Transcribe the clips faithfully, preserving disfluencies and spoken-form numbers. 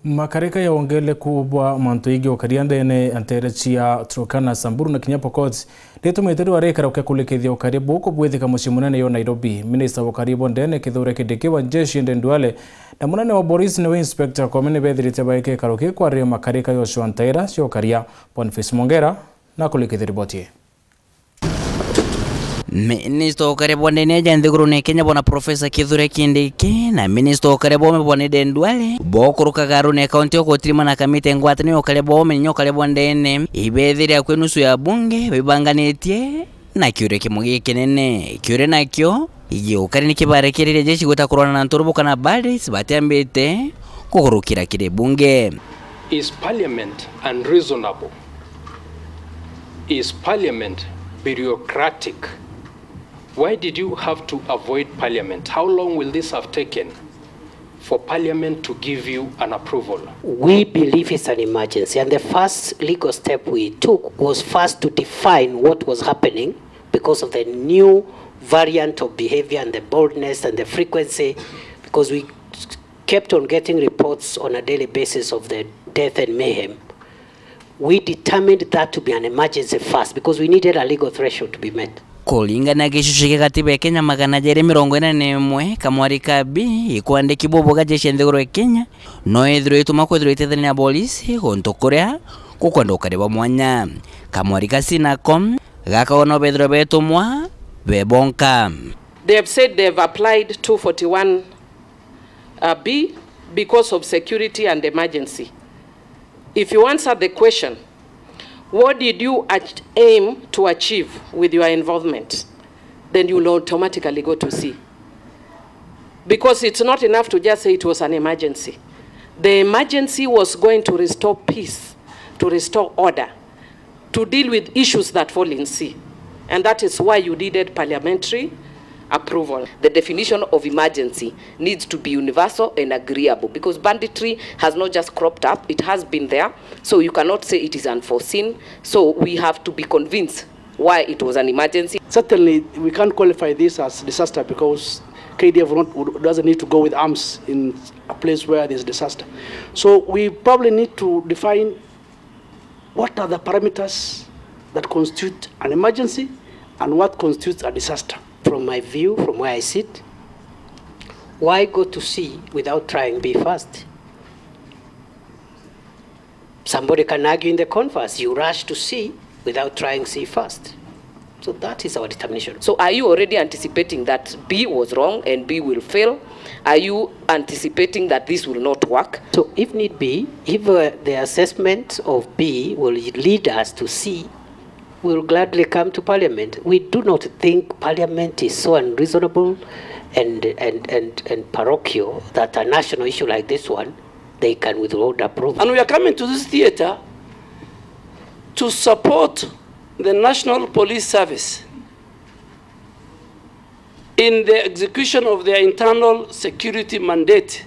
Makarika ya wongeleku bwa mantu ingi ukaria ndene ya ntere cia Turkana, Samburu na kinya Pokot nitumite riu arikara ukia kulikithia ukaria buku bwithika mucii munene yo Nairobi. Minista wa ukaria bwa ndene Kithure Kindiki, wa jeshi Aden Duale na munene wa borisi niwe Inspector Koome nibethirite baike ikaro ki kwariria makarika yocwa ntaira cia ukaria. Boniface Mongera na kulikithia riboti ii. Minista wa ukaria bwa ndene aja nthigurune ya Kenya bwana Professor Kithure Kindiki na minista wa ukaria bwa ume bwana Aden Duale bokurukaga Arune kaunti ya Kotirima na kamite ngwataniro ya ukaria bwa ume na ukaria bwa ndene ibethiria kwi nusu ya bunge bibanganitie na kiuria kimwe gikinene kiuria nakio igi ukaria ni kibarekeririe jeshi gwita kurwana na nturubu kana bandits batiambite kukurukira kiri bunge. Is parliament unreasonable? Is parliament bureaucratic? Why did you have to avoid parliament? How long will this have taken for parliament to give you an approval? We believe it's an emergency, and the first legal step we took was first to define what was happening because of the new variant of behavior and the boldness and the frequency, because we kept on getting reports on a daily basis of the death and mayhem. We determined that to be an emergency first because we needed a legal threshold to be met. Kuringana na gicucu kia gatiba ya Kenya magana jeri mirongo ina na imwe, kamwari ka B ikwandiki bubuga jeshi ya nthiguru ya Kenya no ithirwe itumwa kwithirwa itethania na polisi guntu kuria gukwenda ukari bwa mwanya. Kamwari ka C nako gakauga no bethirwe betumwa be bonka. They have said they have applied two forty-one uh, B because of security and emergency. If you answer the question, what did you ach- aim to achieve with your involvement? Then you will automatically go to C. Because it's not enough to just say it was an emergency. The emergency was going to restore peace, to restore order, to deal with issues that fall in C. And that is why you needed parliamentary approval. The definition of emergency needs to be universal and agreeable, because banditry has not just cropped up, it has been there. So you cannot say it is unforeseen. So we have to be convinced why it was an emergency. Certainly, we can't qualify this as disaster because K D F would not, would, doesn't need to go with arms in a place where there's disaster. So we probably need to define what are the parameters that constitute an emergency and what constitutes a disaster. From my view, from where I sit, why go to C without trying B first? Somebody can argue in the converse, you rush to C without trying C first. So that is our determination. So are you already anticipating that B was wrong and B will fail? Are you anticipating that this will not work? So if need be, if uh, the assessment of B will lead us to C, we will gladly come to Parliament. We do not think Parliament is so unreasonable and, and, and, and parochial that a national issue like this one, they can withhold approval. And we are coming to this theatre to support the National Police Service in the execution of their internal security mandate,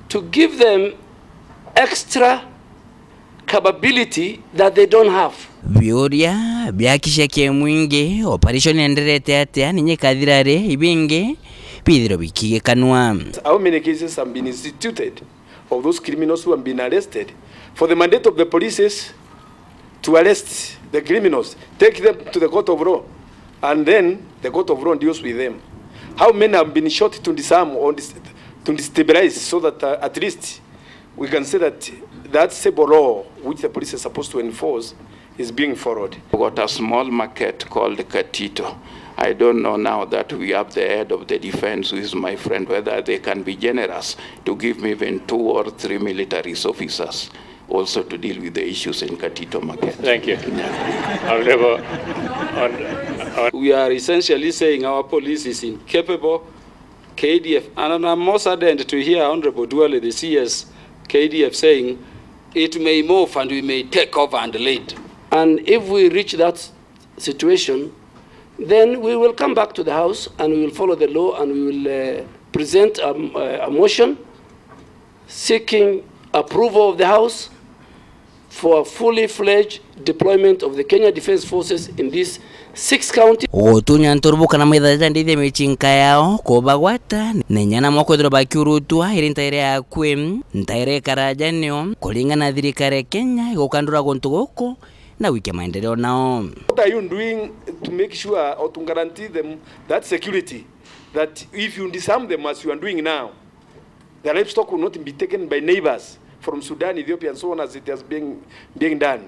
to give them extra capability that they don't have. Biuria biakicia kimwingi, operation enderete atia, ninye kathira ri, ibingi bithirwe bikigikanwa. How many cases have been instituted of those criminals who have been arrested? For the mandate of the police is to arrest the criminals, take them to the court of law, and then the court of law deals with them. How many have been shot to disarm or dis-, to destabilize so that uh, at least we can say that that civil law which the police is supposed to enforce is being followed. We've got a small market called Katito. I don't know now that we have the head of the defense, who is my friend, whether they can be generous to give me even two or three military officers also to deal with the issues in Katito market. Thank you. Honorable, hon-, hon- We are essentially saying our police is incapable, K D F, and I'm most saddened to hear Honorable Duale, the C S, K D F, saying it may move and we may take over and lead. And if we reach that situation, then we will come back to the House and we will follow the law and we will uh, present a, a motion seeking approval of the House for a fully fledged deployment of the Kenya Defence Forces in this Six counties. Gutunya nturubu kana maithaja ndithia micinka yao kubagwata, na inya namo kwithirwa bakiurutwa iri ntaire yakwi, ntaire ikaraja nio kuringana na thirikari ya Kenya igukandura guntu guku na gwikia maendeleo nao. What are you doing to make sure or to guarantee them that security, that if you disarm them as you are doing now, the livestock will not be taken by neighbors from Sudan, Ethiopia, and so on as it has been being done?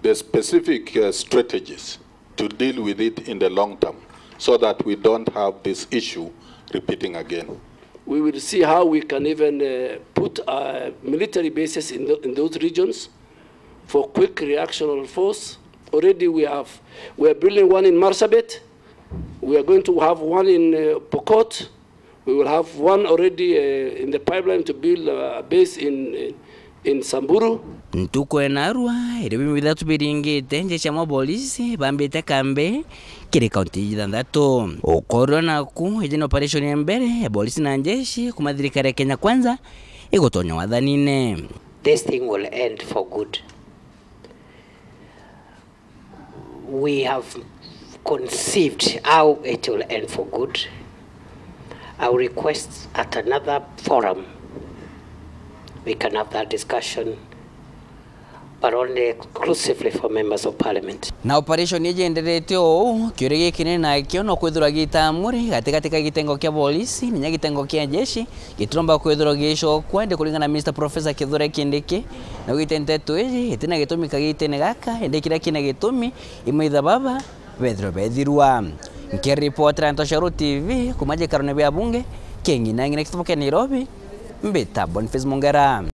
The specific, uh, strategies to deal with it in the long term so that we don't have this issue repeating again. We will see how we can even, uh, put, uh, military bases in tho-, in those regions for quick reactional force. Already we have, we are building one in Marsabit. We are going to have one in, uh, Pokot. We will have one already, uh, in the pipeline to build, uh, a base in, in, in Samburu. Ntuku enarua, irio bimwe bithatu biringite, njeshi cia mapolisi bambite kambi kiri kaunti ithanthatu. Ukorwa naku, iji ni operation ya mbere ya polisi na njeshi kuma thirikari ya Kenya Kwanza igutonya wathanine. This thing will end for good. We have conceived how it will end for good. I will request at another forum we can have that discussion, but only exclusively for members of parliament. Na operation iji yenderete uu, kiuria gikinene nakio no kwithirwa gitamuri gatigati ka gitengo kia polisi na inya gitengo kia jeshi, gitiromba kwithirwa gicokwa, indi kuringana na Mister Professor Kithure Kindiki, naugite nteto iji itina gitumi kagitene gaka, indi kiria kina gitumi, imaitha baba bethirwe bethirwa. Nkiripotera Ntoshero T V kuma gikarone bia bunge kia ng'ina ng'ina kitubu kia Nairobi, mbita Boniface Mongera.